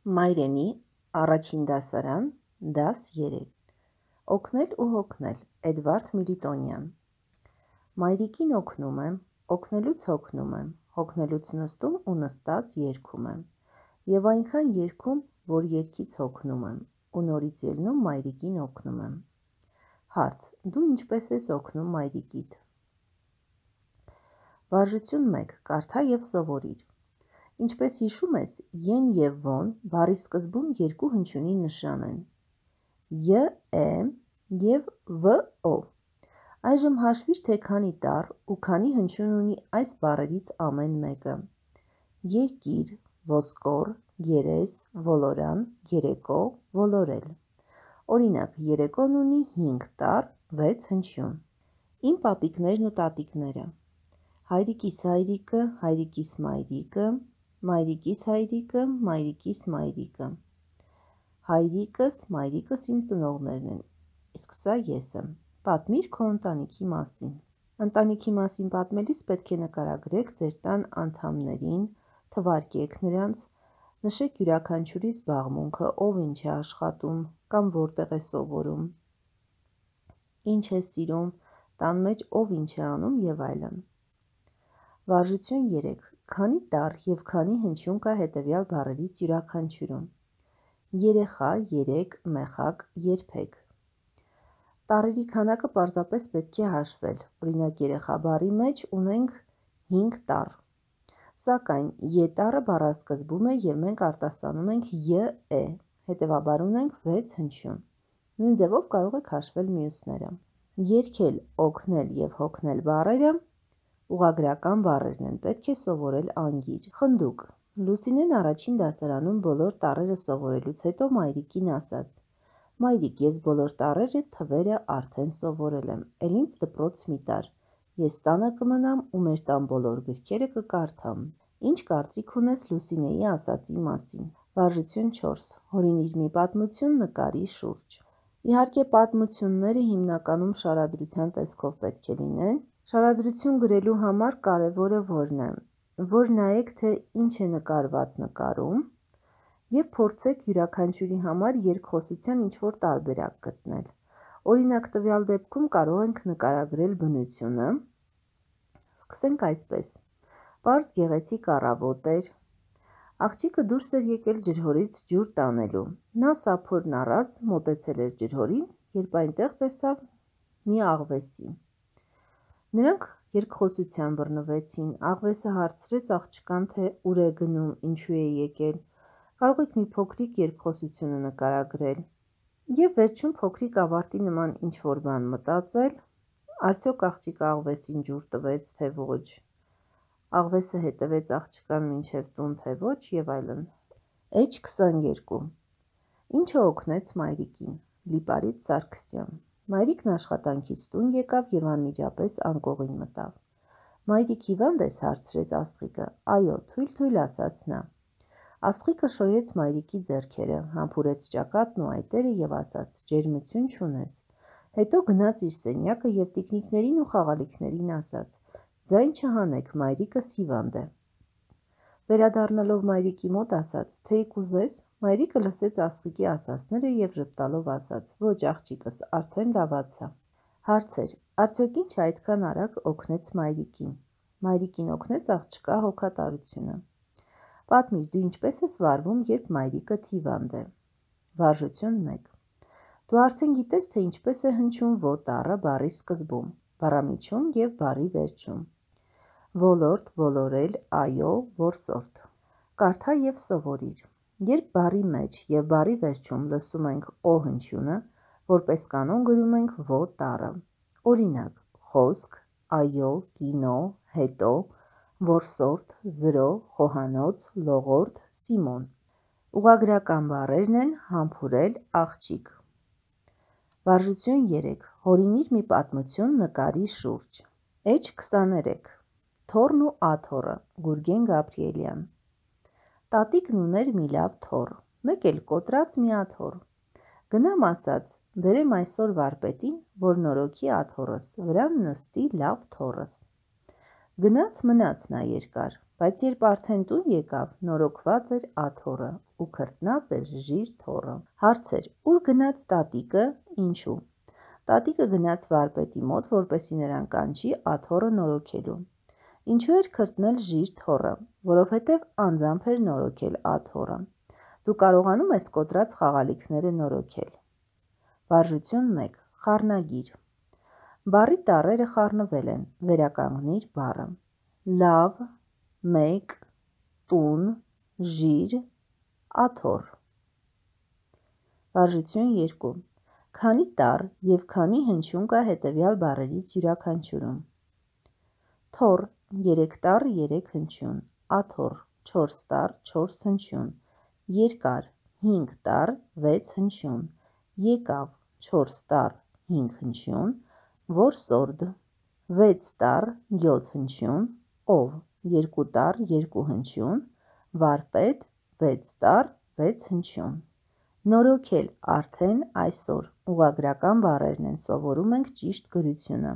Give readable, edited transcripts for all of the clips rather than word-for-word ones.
Մայրենի առաջին դասարան, դաս 3 Օգնել ու հոգնել, Էդվարդ Միլիտոնյան Մայրիկին օգնում եմ, օգնելուց հոգնում եմ, հոգնելուց նստում ու նստած երգում եմ, և այնքան երգում, որ երգից հոգնում եմ, ու նորից ելնում մայրիկին օգնում եմ։ Հարց. դու ինչպես ես օգնում մայրիկիդ։ Վարժություն 1. Կարդա և սովորիր։ Ինչպես հիշում ես, են և ոն բառի սկզբում երկու հնչյունի նշան են՝ ե, և վ-ո։ Այժմ հաշվիր, թե քանի տառ ու քանի հնչյուն ունի այս բառերից ամեն մեկը՝ երկիր, ոսկոր, երես, ոլորան, երեկո, ոլորել։ Օրինակ, երեկոն ունի 5 տառ, 6 հնչյուն։ Իմ պապիկներն ու տատիկները. հայրիկիս հայրիկը, հայրիկիս մայրիկը, մայրիկիս հայրիկը, մայրիկիս մայրիկը։ Հայրիկս, մայրիկս իմ ծնողներն են, իսկ սա ես եմ։ Պատմիր քո ընտանիքի մասին։ Ընտանիքի մասին պատմելիս պետք է նկարագրեք ձեր տան անդամներին, թվարկեք նրանց, նշեք յուրաքանչյուրի զբաղմունքը, ով ինչ է աշխատում կամ որտեղ է սովորում, ինչ է սիրում, տան մեջ ով ինչ է անում և այլն։ Վարժություն 3. Քանի տառ և քանի հնչյուն կա հետևյալ բառերից յուրաքանչյուրում։ Երեխա, երեք, մեխակ, երբեք։ Տառերի քանակը պարզապես պետք է հաշվել։ Օրինակ, երեխա բառի մեջ ունենք 5 տառ։ Սակայն ե տառը բառասկզբում է և մենք արտասանում ենք ե, հետևաբար ունենք 6 հնչյուն։ Նույն ձևով կարող եք հաշվել մյուսները։ Երգել, օգնել և հոգնել բառերը ուղղագրական բառերն են, պետք է սովորել անգիր։ Խնդուկ. Լուսինեն առաջին դասարանում բոլոր տառերը սովորելուց հետո մայրիկին ասաց. մայրիկ, ես բոլոր տառերը թվերը արդեն սովորել եմ, էլ ինձ դպրոց մի տար, ես տանը կմնամ ու մեր տան բոլոր գրքերը կկարդամ։ Ինչ կարծիք ունես Լուսինեի ասածի մասին։ Վարժություն 4. Հորինիր մի պատմություն նկարի շուրջ։ Իհարկե, պատմությունները հիմնականում շարադրության տեսքով պետք է լինեն։ Շարադրություն գրելու համար կարևորը որն է, որ նայեք, թե ինչ է նկարված նկարում և փորձեք յուրաքանչյուրի համար երկխոսության ինչ-որ տարբերակ գտնել։ Օրինակ, տվյալ դեպքում կարող ենք նկարագրել բնությունը։ Սկսենք այսպես. Պարզ գեղեցիկ առավոտ էր, աղջիկը դուրս էր եկել ջրհորից ջուր տանելու։ Նա սափորն առած մոտեցել էր ջրհորին, երբ այնտեղ տեսավ մի աղվեսի։ Նրանք երկխոսության բռնվեցին, աղվեսը հարցրեց աղջկան, թե ուր է գնում, ինչու է եկել։ Կարող եք մի փոքրիկ երկխոսությունը նկարագրել և վերջում փոքրիկ ավարտի նման ինչ-որ բան մտածել, արդյոք աղջիկը աղվեսին ջուր տվեց, թե ոչ, աղվեսը հետևեց աղջկան մինչև տուն, թե ոչ և այլն։ H22 Ինչը օգնեց մայրիկին։ Լիպարիտ Սարգսյան Մայրիկն աշխատանքից տուն եկավ և անմիջապես անկողին մտավ։ Մայրիկ հիվա՞նդ ես, հարցրեց Աստղիկը։ Այո, թույլ ասաց նա։ Աստղիկը շոյեց մայրիկի ձեռքերը, համբուրեց ճակատն ու այտերը և ասաց. ջերմություն չունես։ Հետո գնաց իր սենյակը և տիկնիկներին ու խաղալիքներին ասաց. ձայն չհանեք, մայրիկս հիվանդ է։ Վերադառնալով մայրիկի մոտ ասաց. թեյ կուզես։ Մայրիկը լսեց Աստղիկի ասածները և ժպտալով ասաց. ոչ աղջիկս, արդեն լավացա։ Հարցեր. արդյոք ինչ այդքան արագ օգնեց մայրիկին։ Մայրիկին օգնեց աղջկա հոգատարությունը։ Պատմիր, դու ինչպես ես վարվում, երբ մայրիկդ հիվանդ է։ Վարժություն 1. Դու արդեն գիտես, թե ինչպես է հնչում ո տառը բառի սկզբում, բառամիջում և բառի վերջում։ Ոլորտ, ոլորել, այո, որսորդ։ Կարդա և սովորիր։ Երբ բառի մեջ և բառի վերջում լսում ենք օ հնչյունը, որպես կանոն գրում ենք ո տառը։ Օրինակ, խոսք, այո, կինո, հետո, որսորդ, զրո, խոհանոց, լողորդ, Սիմոն։ Ուղղագրական բառերն են համբուրել, աղջիկ։ Վարժություն 3. Հորինիր մի պատմություն նկարի շուրջ։ H23 Թոռն ու աթոռը, Գուրգեն Գաբրիելյան։ Տատիկն ուներ մի լավ թոռ, մեկ էլ կոտրած մի աթոռ։ Գնամ ասաց, բերեմ այսօր վարպետին, որ նորոգի աթոռս, վրան նստի լավ թոռս։ Գնաց մնաց նա երկար, բայց երբ արդեն տուն եկավ, նորոգված էր աթոռը ու քրտնած էր ժիր թոռը։ Հարցեր. ուր գնաց տատիկը, ինչու։ Տատիկը գնաց վարպետի մոտ, որպեսզի նրան կանչի աթոռը նորոգելու։ Ինչու էր քրտնել ժիր թոռը, որովհետև անձամբ էր նորոգել աթոռը։ Դու կարողանում ես կոտրած խաղալիքները նորոգել։ Վարժություն 1. Խառնագիր։ Բառի տառերը խառնվել են, վերականգնիր բառը։ Լավ, մեկ, տուն, ժիր, աթոռ։ Վարժություն 2. Քանի տառ և քանի հնչյուն կա հետևյալ բառերից յուրաքանչյուրում։ Թոռ 3 տառ 3 հնչյուն, աթոռ 4 տառ 4 հնչյուն, երկար 5 տառ 6 հնչյուն, եկավ 4 տառ 5 հնչյուն, որսորդ 6 տառ 7 հնչյուն, ով 2 տառ 2 հնչյուն, վարպետ 6 տառ 6 հնչյուն։ Նորոգել արդեն այսօր ուղղագրական բառերն են, սովորում ենք ճիշտ գրությունը։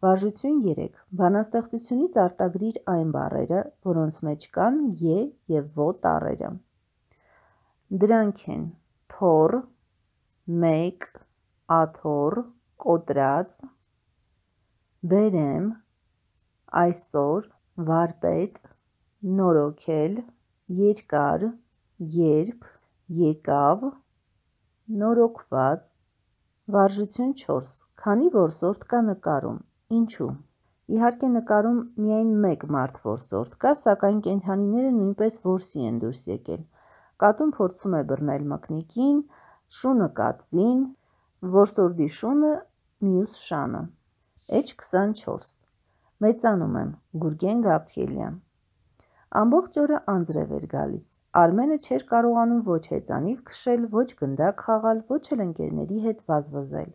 Վարժություն 3. Բանաստեղծությունից արտագրիր այն բառերը, որոնց մեջ կան ե և ո տառերը։ Դրանք են թոռ, մեկ, աթոռ, կոտրած, բերեմ, այսօր, վարպետ, նորոգել, երկար, երբ, եկավ, նորոգված։ Վարժություն 4. Քանի որսորդ կա նկարում, ինչու։ Իհարկե նկարում միայն մեկ մարդ որսորդ կա, սակայն կենդանիները նույնպես որսի են դուրս եկել։ Կատուն փորձում է բռնել մկնիկին, շունը կատվին, որսորդի շունը մյուս շանը։ H24. Մեծանում եմ, Գուրգեն Գաբրիելյան։ Ամբողջ օրը անձրև էր գալիս։ Արմենը չէր կարողանում ոչ հեծանիվ քշել, ոչ գնդակ խաղալ, ոչ էլ ընկերների հետ վազվզել։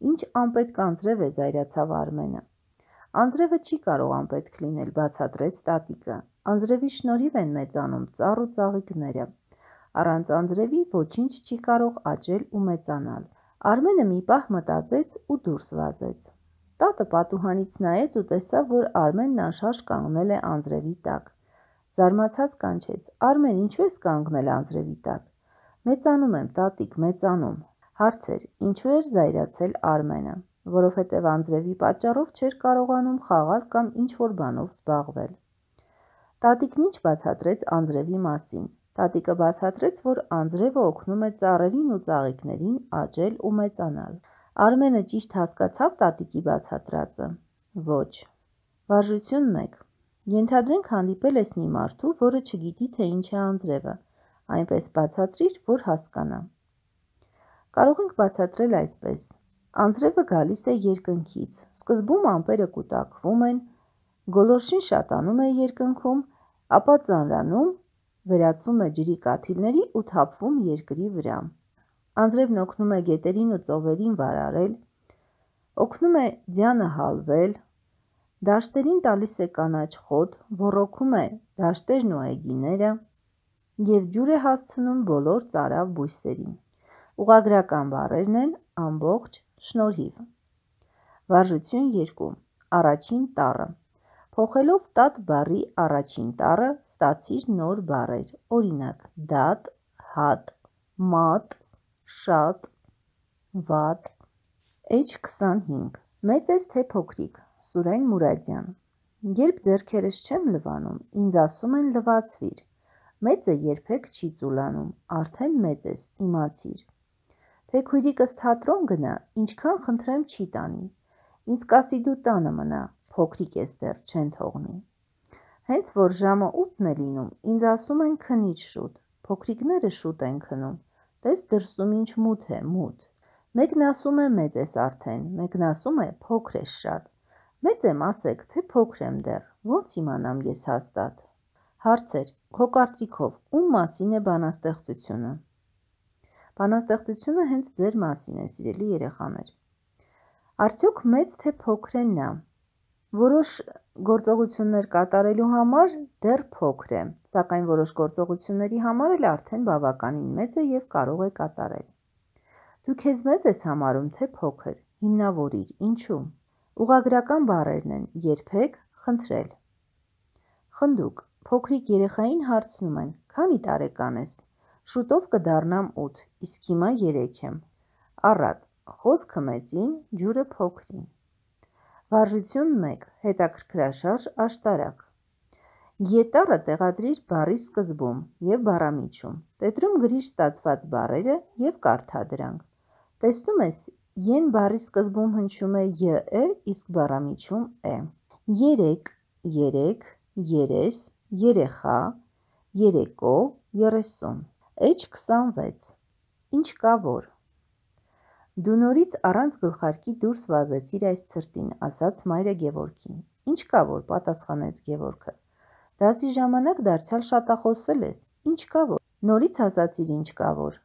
Ինչ անպետք անձրև է, զայրացավ Արմենը։ Անձրևը չի կարող անպետք լինել, բացատրեց տատիկը։ Անձրևի շնորհիվ են մեծանում ծառ ու ծաղիկները։ Առանց անձրևի ոչինչ չի կարող աճել ու մեծանալ։ Արմենը մի պահ մտածեց ու դուրս վազեց։ Տատը պատուհանից նայեց ու տեսավ, որ Արմենն անշարժ կանգնել է անձրևի տակ։ Զարմացած կանչեց. Արմեն, ինչու ես կանգնել անձրևի տակ։ Մեծանում եմ, տատիկ, մեծանում։ Հարցեր. ինչու էր զայրացել Արմենը։ Որովհետև անձրևի պատճառով չէր կարողանում խաղալ կամ ինչ-որ բանով զբաղվել։ Տատիկն ինչ բացատրեց անձրևի մասին։ Տատիկը բացատրեց, որ անձրևը օգնում է ծառերին ու ծաղիկներին աճել ու մեծանալ։ Արմենը ճիշտ հասկացավ տատիկի բացատրածը։ Ոչ։ Վարժություն 1. Ենթադրենք հանդիպել ես մի մարդու, որը չգիտի, թե ինչ է անձրևը, այնպես բացատրիր, որ հասկանա։ Կարող ենք բացատրել այսպես. անձրևը գալիս է երկնքից, սկզբում ամպերը կուտակվում են, գոլորշին շատանում է երկնքում, ապա ծանրանում, վերածվում է ջրի կաթիլների ու թափվում երկրի վրա։ Անձրևն օգնում է գետերին ու ծովերին վարարել, օգնում է ձյանը հալվել, դաշտերին տալիս է կանաչ խոտ, ոռոգում է դաշտերն ու այգիները և ջուր է հասցնում բոլոր ծարավ բույսերին։ Ուղղագրական բառերն են ամբողջ, շնորհիվ։ Վարժություն 2. Առաջին տառը։ Փոխելով տատ բառի առաջին տառը, ստացիր նոր բառեր, օրինակ՝ դատ, հատ, մատ, շատ, վատ։ H25. Մեծ ես թե փոքրիկ, Սուրեն Մուրադյան։ Երբ ձեռքերս չեմ լվանում, ինձ ասում են լվացվիր։ Մեծը երբեք չի ծուլանում, արդեն մեծ ես, իմացիր։ Թե քույրիկս թատրոն գնա, ինչքան խնդրեմ չի տանի։ Ինձ կասի դու տանը մնա, փոքրիկ ես դեռ, չեն թողնի։ Հենց որ ժամը 8-ն է լինում, ինձ ասում են քնիր շուտ, փոքրիկները շուտ են քնում, տես դրսում ինչ մութ է, մութ։ Մեկն ասում է մեծ ես արդեն, մեկն ասում է փոքր ես շատ։ Մեծ եմ ասեք, թե փոքր եմ դեռ, ոնց իմանամ ես հաստատ։ Հարցեր. քո կարծիքով, ում մասին է բանաստեղծությունը։ Բանաստեղծությունը հենց ձեր մասին է, սիրելի երեխաներ։ Արդյոք մեծ թե փոքր է նա։ Որոշ գործողություններ կատարելու համար դեռ փոքր է, սակայն որոշ գործողությունների համար էլ արդեն բավականին մեծ է և կարող է կատարել։ Դու քեզ մեծ ես համարում, թե փոքր, հիմնավորիր, ինչու։ Ուղղագրական բառերն են երբեք, խնդրել։ Խնդուկ, փոքրիկ երեխային հարցնում են, Քանի տարեկան ես։ Շուտով կդառնամ 8, իսկ հիմա 3 եմ։ Առած, խոսքը մեծին, ջուրը փոքրին։ Վարժություն 1. Հետաքրքրաշարժ աշտարակ։ Ետառը տեղադրիր բառի սկզբում և բառամիջում։ Տետրում գրիր ստացված բառերը և կարդա դրանք։ Տեսնում ես, են բառի սկզբում հնչում է ե, իսկ բառամիջում է։ Երեք, երեք, երես, երեխա, երեկո, 30։ H26. Ինչ կա որ։ Դու նորից առանց գլխարկի դուրս վազեցիր այս ցրտին, ասաց մայրը Գևորգին։ Ինչ կա որ, պատասխանեց Գևորգը։ Դասի ժամանակ դարձյալ շատախոսել ես։ Ինչ կա որ։ Նորից ասացիր ինչ կա որ։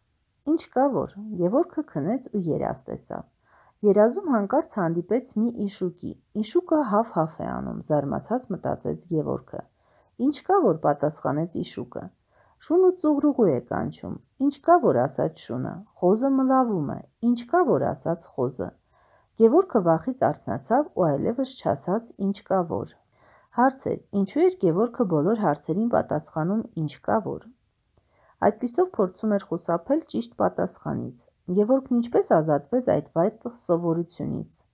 Ինչ կա որ։ Գևորգը քնեց ու երազ տեսավ։ Երազում հանկարծ հանդիպեց մի իշուկի։ Իշուկը հավ-հավ է անում, զարմացած մտածեց Գևորգը։ Ինչ կա որ, պատասխանեց իշուկը։ Շունը ծուղրուղու է կանչում։ Ինչ կա որ, ասաց շունը։ Խոզը մլավում է։ Ինչ կա որ, ասաց խոզը։ Գևորգը վախից արթնացավ ու այլևս չասաց ինչ կա որ։ Հարց էր, ինչու էր Գևորգը բոլոր հարցերին պատասխանում ինչ կա որ։ Այդպիսով փորձում էր խուսափել ճիշտ պատասխանից։ Գևորգն ինչպես ազատվեց այդ վատ սովորությունից։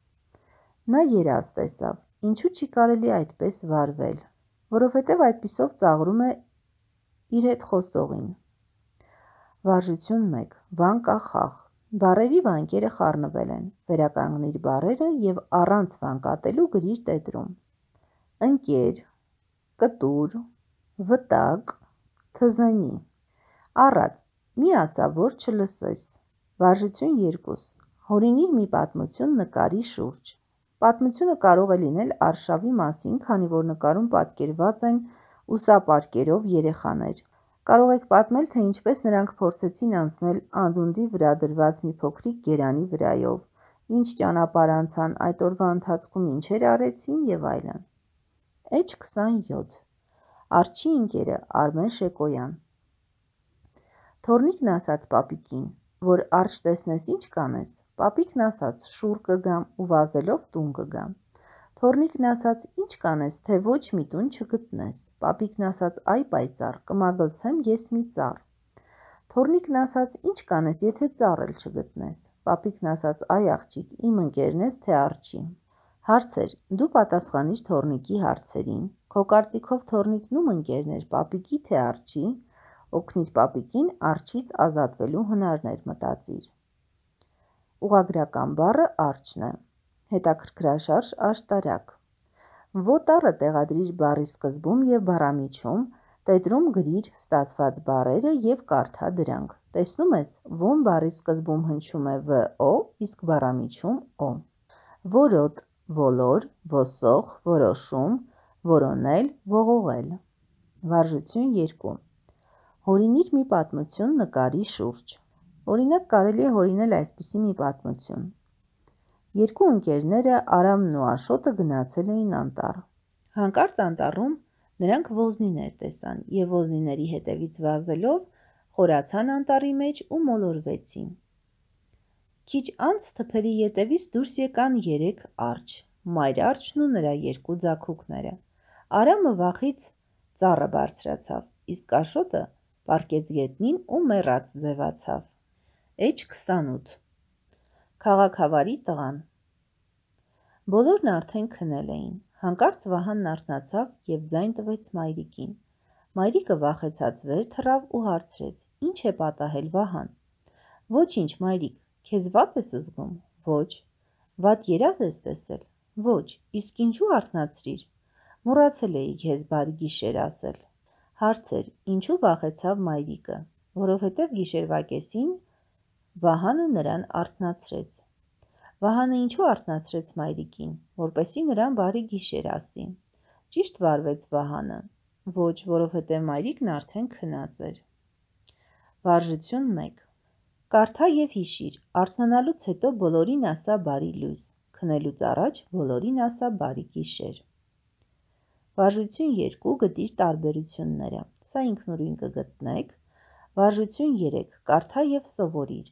Նա երազ տեսավ։ Ինչու չի կարելի այդպես վարվել, որովհետև այդպիսով ծաղրում է իր հետ խոսողին։ Վարժություն 1. Վանկախախ։ Բառերի վանկերը խառնվել են։ Վերականգնիր բառերը և առանց վանկատելու գրիր տետրում։ Ընկեր, կտուր, վտակ, թզենի։ Առած, մի ասա, որ չլսես։ Վարժություն 2. Հորինիր մի պատմություն նկարի շուրջ։ Պատմությունը կարող է լինել արշավի մասին, քանի որ նկարում պատկերված են ուսապարկերով երեխաներ։ Կարող եք պատմել, թե ինչպես նրանք փորձեցին անցնել անդունդի վրա դրված մի փոքրիկ գերանի վրայով, ինչ ճանապարհ անցան, այդ օրվա ընթացքում ինչեր արեցին եւ այլն։ H27. Արջի ընկերը Արմեն Շեկոյան։ Թորնիկն ասաց պապիկին, որ արջ տեսնես ինչ կանես։ Պապիկն ասաց շուռ կգամ ու վազելով տուն կգամ։ Թորնիկն ասաց ինչ կանես, թե ոչ մի տուն չգտնես։ Պապիկն ասաց այ պայծառ, կմագլցեմ ես մի ծառ։ Թորնիկն ասաց ինչ կանես, եթե ծառ էլ չգտնես։ Պապիկն ասաց այ աղջիկ, իմ ընկերն ես թե արջի։ Հարցեր, դու պատասխանիր թորնիկի հարցերին։ Քո կարծիքով թորնիկն ում ընկերն էր, պապիկի թե արջի։ Օգնիր պապիկին արջից ազատվելու հնարներ մտածիր։ Ուղղագրական բառը արջն է։ Հետաքրքրաշարժ աշտարակ։ Ոտառը տեղադրիր բառի սկզբում և բառամիջում, տետրում գրիր ստացված բառերը և կարդա դրանք։ Տեսնում ես, ոմ բառի սկզբում հնչում է ո, իսկ բառամիջում օ։ Որոտ, ոլոր, ոսող, որոշում, որոնել, ողողել։ Վարժություն 2. Հորինիր մի պատմություն նկարի շուրջ։ Օրինակ կարելի է հորինել այսպիսի մի պատմություն։ Երկու ընկերները Արամն ու Աշոտը գնացել էին անտառ։ Հանկարծ անտառում նրանք ոզնիներ տեսան և ոզնիների հետևից վազելով խորացան անտառի մեջ ու մոլորվեցին։ Քիչ անց թփերի ետևից դուրս եկան 3 արջ, մայր արջն ու նրա 2 ձագուկները։ Արամը վախից ծառը բարձրացավ, իսկ Աշոտը պառկեց գետնին ու մեռած ձևացավ։ H28. Քաղաքավարի տղան։ Բոլորն արդեն քնել էին։ Հանկարծ Վահանն արթնացավ և ձայն տվեց մայրիկին։ Մայրիկը վախեցած վեր թռավ ու հարցրեց. Ինչ է պատահել, Վահան։ Ոչինչ, մայրիկ, քեզ վատ ես զգում։ Ոչ։ Վատ երազ ես տեսել։ Ոչ, իսկ ինչու արթնացրիր։ Մոռացել էի քեզ բարի գիշեր ասել։ Հարցեր, ինչու վախեցավ մայրիկը։ Որովհետև գիշերվա կեսին Վահանը նրան արթնացրեց։ Վահանը ինչու արթնացրեց մայրիկին, որպեսզի նրան բարի գիշեր ասի։ Ճիշտ վարվեց Վահանը։ Ոչ, որովհետև մայրիկն արդեն քնած էր։ Վարժություն 1. Կարդա և հիշիր, արթնանալուց հետո բոլորին ասա բարի լույս, քնելուց առաջ բոլորին ասա բարի գիշեր։ Վարժություն 2. Գտիր տարբերությունները։ Սա ինքնուրույն կգտնեք։ Վարժություն 3. Կարդա և սովորիր։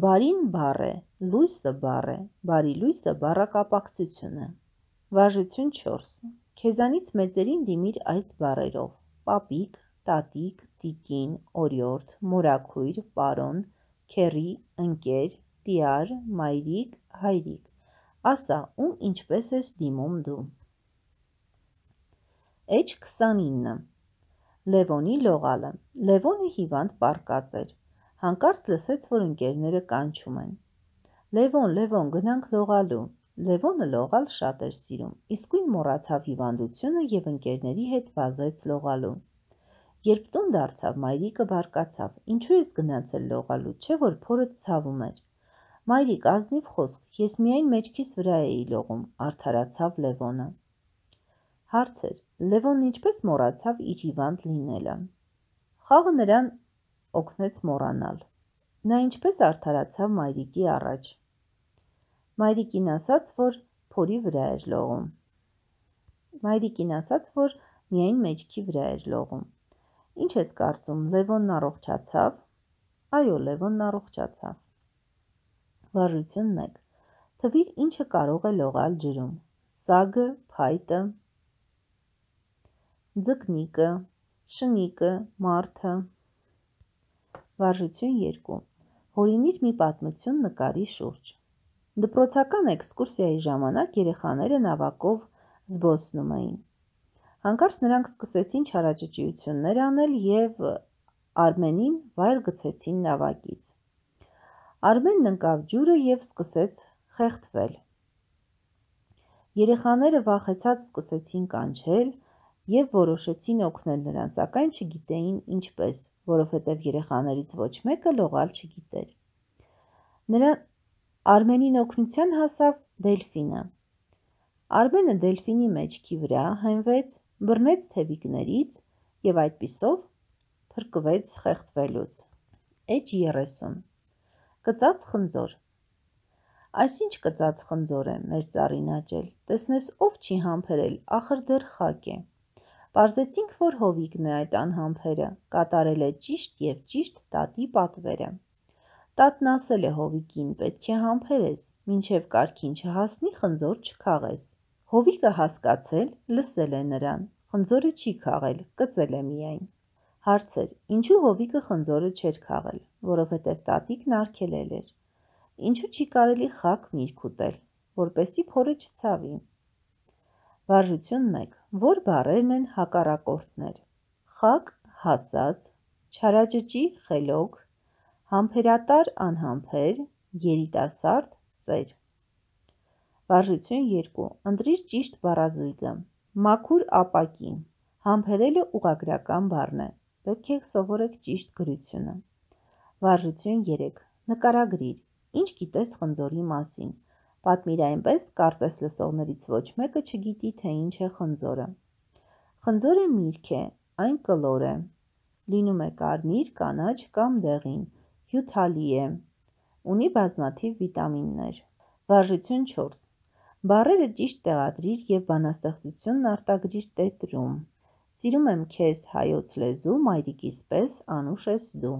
Բարին բառ է, լույսը բառ է, բարի լույսը բառակապակցություն է։ Վարժություն 4. Քեզանից մեծերին դիմիր այս բառերով. պապիկ, տատիկ, տիկին, օրիորդ, մորաքույր, պարոն, քեռի, ընկեր, տյար, մայրիկ, հայրիկ, ասա, ում ինչպես ես դիմում դու։ Էջ 29 Լևոնի լողալը։ Լևոնը հիվանդ պառկած էր, հանկարծ լսեց, որ ընկերները կանչում են. Լևոն, գնանք լողալու։ Լևոնը լողալ շատ էր սիրում, իսկույն մոռացավ հիվանդությունը և ընկերների հետ վազեց լողալու։ Երբ տուն դարձավ, մայրիկը բարկացավ. ինչու ես գնացել լողալու, չէ՞ որ փորդ ցավում էր։ Մայրիկ, ազնիվ խոսք, ես միայն մեջքիս վրա էի լողում, արդարացավ Լևոնը։ Հարց էր. Լևոնն ինչպես մոռացավ իր հիվանդ լինելը։ Խաղը նրան օգնեց մոռանալ։ Նա ինչպես արդարացավ մայրիկի առաջ։ Մայրիկին ասաց, որ փորի վրա էր լողում։ Մայրիկին ասաց, որ միայն մեջքի վրա էր լողում։ Ինչ ես կարծում, Լևոնն առողջացավ։ Այո, Լևոնն առողջացավ։ Վարժություն 1. Թվիր ինչը կարող է լողալ ջրում։ Սագը, փայտը, ձկնիկը, շնիկը, մարդը։ Վարժություն 2. Հորինիր մի պատմություն նկարի շուրջ։ Դպրոցական էքսկուրսիայի ժամանակ երեխաները նավակով զբոսնում էին։ Հանկարծ նրանք սկսեցին չարաճճիություններ անել և Արմենին վայր գցեցին նավակից։ Արմենն ընկավ ջուրը և սկսեց խեղդվել։ Երեխաները վախեցած սկսեցին կանչել և որոշեցին օգնել նրան, սակայն չգիտեին ինչպես, որովհետև երեխաներից ոչ մեկը լողալ չգիտեր։ Արմենին օգնության հասավ Դելֆինը։ Արմենը Դելֆինի մեջքի վրա հենվեց, բռնեց թևիկներից և այդպիսով փրկվեց խեղդվելուց։ Էջ 30 Կծած խնձոր։ Այսինչ կծած խնձոր է, մեր ծառին աճել, տեսնես ով չի համբերել, ախր դեռ խակ է։ Պարզեցինք, որ հովիկն է այդ անհամբերը, կատարել է ճիշտ և ճիշտ տատի պատվերը։ Տատն ասել է հովիկին, պետք է համբերես, մինչև կարգին չհասնի, խնձոր չքաղես։ Հովիկը հասկացել, լսել է նրան, խնձորը չի քաղել, կծել է միայն։ Հարց էր. ինչու հովիկը խնձորը չէր քաղել, որովհետև տատիկն արգելել էր։ Ինչու չի կարելի խակ միրգ ուտել, որպեսզի փորը չցավի։ Վարժություն 1. Որ բառերն են հակառակորդներ։ Խակ, հասած, չարաճճի, խելոք, համբերատար, անհամբեր, երիտասարդ, ծեր։ Վարժություն 2. Ընտրիր ճիշտ բառազույգը։ Մաքուր ապակի։ Համբերելը ուղղագրական բառն է։ Պետք է սովորեք ճիշտ գրությունը։ Վարժություն 3. Նկարագրիր։ Ինչ գիտես խնձորի մասին։ Պատմիր այնպես, կարծես լսողներից ոչ մեկը չգիտի, թե ինչ է խնձորը։ Խնձորը միրգ է, այն կլոր է։ Լինում է կարմիր, կանաչ կամ դեղին, հյութալի է, ունի բազմաթիվ վիտամիններ։ Վարժություն 4. Բառերը ճիշտ տեղադրիր և բանաստեղծությունն արտագրիր տետրում։ Սիրում եմ քեզ հայոց լեզու, մայրիկիս պես անուշ ես դու։